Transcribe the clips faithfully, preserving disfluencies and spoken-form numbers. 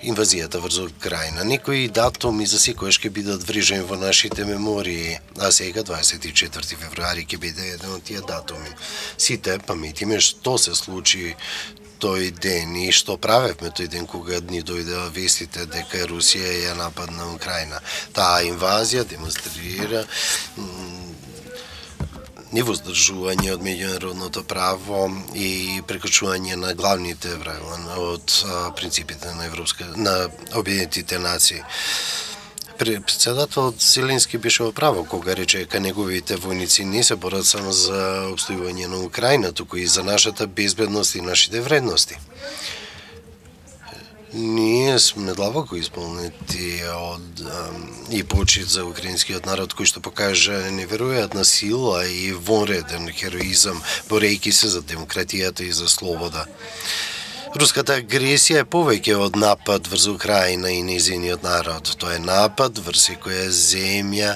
инвазијата врз Украина. Некои датуми за секојаш ќе бидат врижени во нашите мемории, а сега дваесет и четврти февруари ќе биде еден од тие датуми. Сите паметиме што се случи тој ден и што правевме тој ден кога ни дојдеа вестите дека Русија ја нападна Украина. Таа инвазија демонстрира невоздржување од меѓународното право и прекршување на главните правила од принципите на Европска на Обединетите нации. Председателот Зеленски беше во право кога рече дека неговите војници не се борат само за обстојување на Украина, туку и за нашата безбедност и нашите вредности. Ние сме длабоко исполнети од и почит за украинскиот народ кој што покажа неверојатна сила и вонреден хероизам борејќи се за демократијата и за слобода. Руската агресија е повеќе од напад врз Украина и нејзиниот народ. Тоа е напад врз секоја земја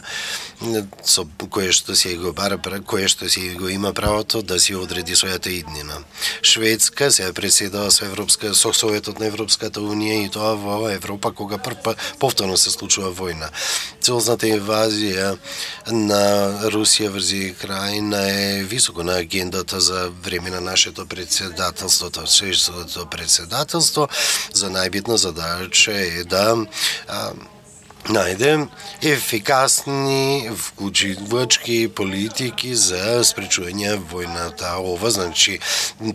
со кое што си го бара, кое што си го има правото да си одреди својата иднина. Шведска се преседава со Европска со Советот на Европската унија и тоа во Европа кога прв повторно се случува војна. Целосната инвазија на Русија врз Украина е високо на агендата за време на нашето председателство. Шведското председателство за најбитна задача е да а, најде ефикасни вклучувачки политики за спречување војната. Ова значи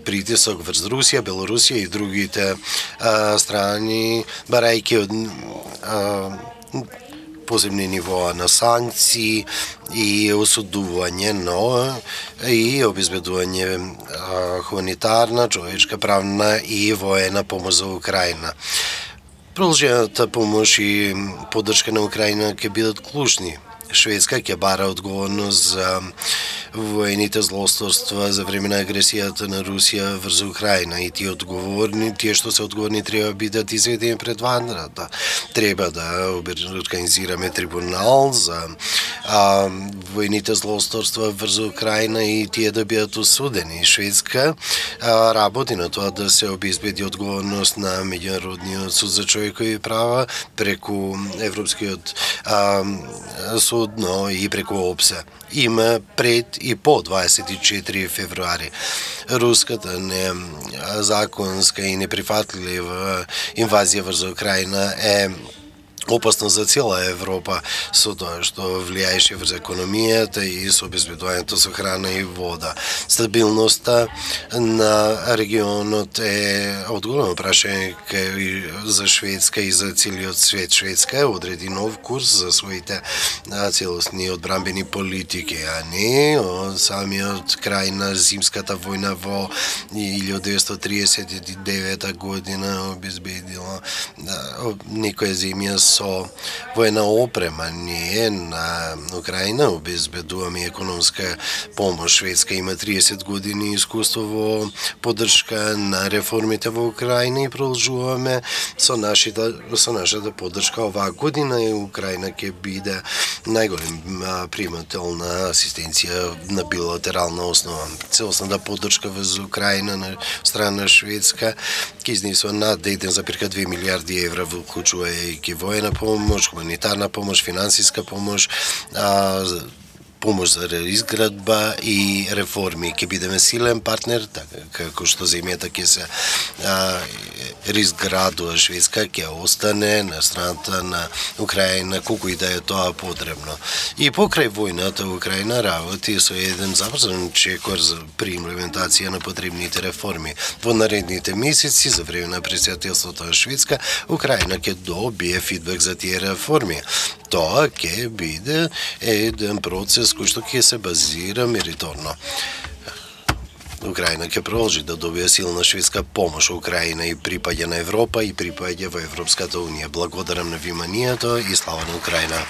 притисок врз Русија, Белорусија и другите а, страни, барајќи од а, посебни нивоа на санкции и осудување, но и обезбедување хуманитарна, човечка, правна и воена помош за Украина. Продолжената помош и поддршка на Украина ќе бидат клучни. Шведска ќе бара одговорност за воените злосторства за време на агресијата на Русија врз Украина и тие одговорни, тие што се одговорни треба да бидат изведени пред ванрата. Треба да организираме трибунал за а, воените злосторства врз Украина и тие да бидат осудени. Шведска а, работи на тоа да се обезбеди одговорност на меѓународниот суд за човекови права преку Европскиот а, суд, но и преку ОПСЕ. Има пред и по дваесет и четврти февруари. Руската незаконска и неприфатлива инвазија врз Украина е опасно за цела Европа со тоа што влијаеше врз економијата и со обезбедувањето со храна и вода. Стабилноста на регионот е одголемо прашање за Шведска и за целиот свет. Шведска одреди нов курс за своите целосни одбранбени политики, а не од самиот крај на зимската војна во илјадесетстотини триесет и девета година обезбедила некоја земја со воена опрема. Ние на Украина обезбедуваме економска помош. Шведска има триесет години искуство во поддршка на реформите во Украина и продолжуваме со нашата со нашата поддршка. Оваа година и Украина ќе биде најголем примател на асистенција на билатерална основа. Целосната поддршка во Украина на страна на Шведска ќе изнесува над еден зарез две милијарди евра, вклучувајќи воена помош, хуманитарна помош, финансиска помош, а, помош за изградба и реформи. Ќе бидеме силен партнер, така како што земјата ќе се изградува. Шведска ќе остане на страната на Украина колку и да е тоа потребно. И покрај војната Украина работи со еден забрзан чекор при имплементација на потребните реформи. Во наредните месеци за време на председателството на Шведска, Украина ќе добие фидбек за тие реформи. Тоа ќе биде еден процес кој што ќе се базира мериторно. Украина ќе продолжи да добие силна шведска помош. Украина и припаѓа на Европа и припаѓа во Европската унија. Благодарам на вниманието и слава на Украина.